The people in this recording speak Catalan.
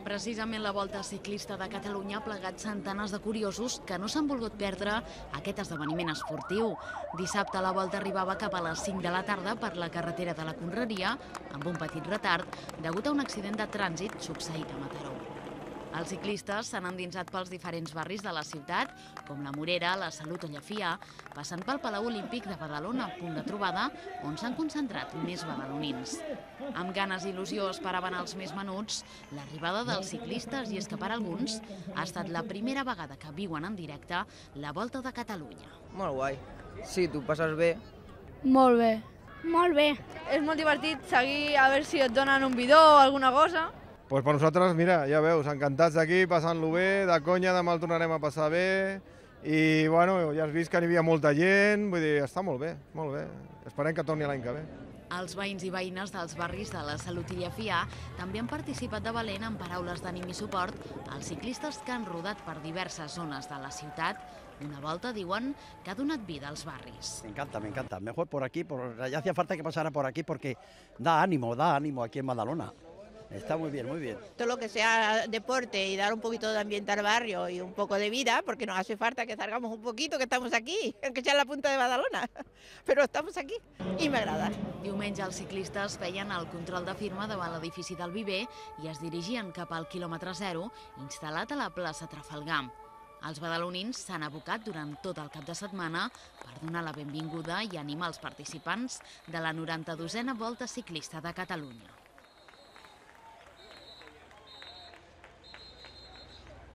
Precisament la Volta Ciclista de Catalunya ha plegat centenars de curiosos que no s'han volgut perdre aquest esdeveniment esportiu. Dissabte la Volta arribava cap a les 5 de la tarda per la carretera de la Conreria, amb un petit retard, degut a un accident de trànsit succeït a Mataró. Els ciclistes s'han endinsat pels diferents barris de la ciutat, com la Morera, la Salut o Llefià, passant pel Palau Olímpic de Badalona, punt de trobada on s'han concentrat més badalonins. Amb ganes i il·lusió esperaven els més menuts l'arribada dels ciclistes i és que per alguns ha estat la primera vegada que viuen en directe la Volta de Catalunya. Molt guai. Sí, tu passes bé. Molt bé. Molt bé. És molt divertit seguir a veure si et donen un bidó o alguna cosa. Pues per nosaltres, mira, ja veus, encantats d'aquí, passant-lo bé, de conya demà el tornarem a passar bé i, bueno, ja has vist que n'hi havia molta gent, vull dir, està molt bé, molt bé. Esperem que torni l'any que ve. Els veïns i veïnes dels barris de la Salut i Llefià també han participat de valent en paraules d'ànim i suport als ciclistes que han rodat per diverses zones de la ciutat. Una volta, diuen, que ha donat vida als barris. Me encanta. Mejor por aquí, ya hacía falta que pasara por aquí porque da ánimo aquí en Badalona. Está muy bien, muy bien. Todo lo que sea deporte y dar un poquito de ambiente al barrio y un poco de vida, porque nos hace falta que salgamos un poquito, que estamos aquí, aunque sea en la punta de Badalona, pero estamos aquí i m'agrada. Diumenge els ciclistes feien el control de firma davant l'edifici del Viver i es dirigien cap al quilòmetre zero instal·lat a la plaça Trafalgar. Els badalonins s'han abocat durant tot el cap de setmana per donar la benvinguda i animar els participants de la 92a Volta Ciclista de Catalunya.